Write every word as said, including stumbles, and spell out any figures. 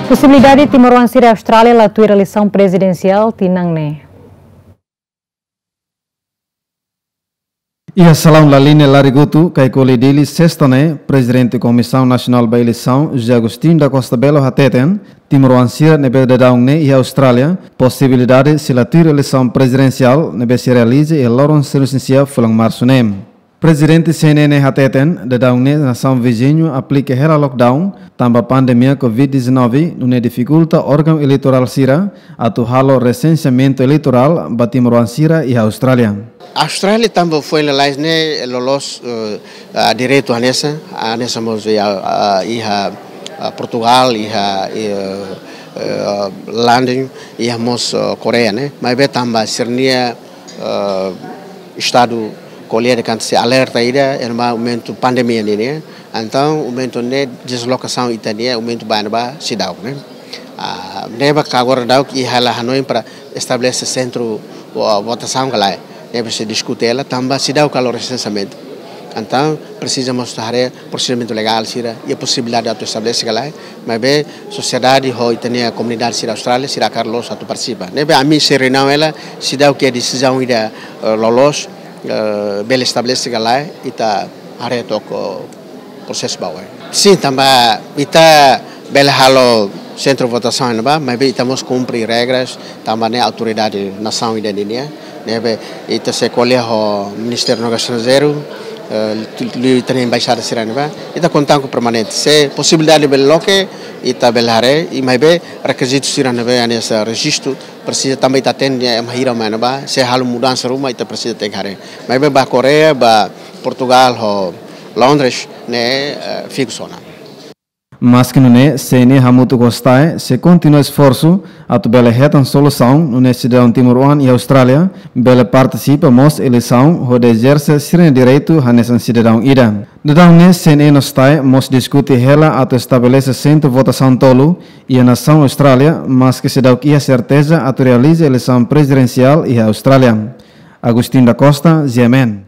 Posibilidade timoroan sira Austrália la tuir eleisaun prezidensiál tinan ne'e. Iha salaun Laline Larigutu, Kaikoli, Dili, sesta ne'e, Prezidente Komisaun Nasionál ba Eleisaun, José Agostinho da Costa Belo, hateten, timoroan sira ne'ebé daudaun ne'e iha Austrália, posibilidade sei la tuir eleisaun prezidensiál ne'ebé sei realiza iha loron sanulu-resin-sia fulan Marsu ne'e. Prezidente C N N hateten, daudaun ne'e nasaun viziñu aplika hela lockdown, tanba pandemia covid dezanove, nune'e difikulta órgaun eleitorál sira atu halo resenseamentu eleitorál ba timoroan sira iha Austrália. Austrália tanba foin lalais ne'e loloos, eh, ah, direitu hanesan, hanesan mós iha, ah, iha, ah, Portugal, iha, eh, eh, London, iha mós, eh, Koreia ne'e. Maibé tanba sira-nia, eh, estadu ko'alia dehan katak sei alerta ida, iha ne'ebá momentu pandemia ne'e, ne'e. Entaun, momentu ne'e dezlokasaun ita-nia, momentu ba ne'ebá seidauk ne'e. Ah, ne'ebé agora daudauk iha hela hanoin para estabelese sentru, ah, votasaun ka lae. Ne'ebé sei diskute hela, tanba seidauk halo resenseamentu. Entaun, presiza mós haree prosedimentu legál sira, iha posibilidade atu estabelese ka lae. Maibé, sosiedade ho ita-nia komunidade sira Austrália, sira hakarak loos atu partisipa. Ne'ebé ami sei reuniaun hela, seidauk iha desizaun ida, eh, loloos, eh, bele estabelese ka lae, ita haree took prosesu ba oin. Sin, tanba ita bele halo sentru votasaun ne'ebá, maibé ita mós kumpre regras, tanba ne'e autoridade nasaun ida nian. Ne'ebé ita sei ko'alia ho Ministériu Negósiu Estranjeiru, eh, liuliu ita-nia embaixada sira ne'ebá. Ita kontaktu permanente. Se posibilidade bele loke, ita bele haree, i maibé rekizitu sira ne'ebé hanesan rejistu, presiza tanba ita hatene ema hira mai ne'ebá, se halo mudansa ruma, ita presiza tenke haree. Maibé ba Koreia, ba Portugal, ho Londres, ne'e, eh, fiksu ona. Maski nune'e, C N N hamutuk ho STAE, sei kontinua esforsu atu bele hetan solusaun, nune'e sidadaun timoroan iha Austrália bele partisipa mós eleisaun hodi ezerse sira-nia direitu hanesan sidadaun ida. Daudaun ne'e, C N N no STAE mós diskute hela atu estabelese sentru votasaun tolu iha nasaun Austrália, maski seidauk iha serteza atu realiza eleisaun prezidensiál iha Austrália. Agostinho da Costa, G M N.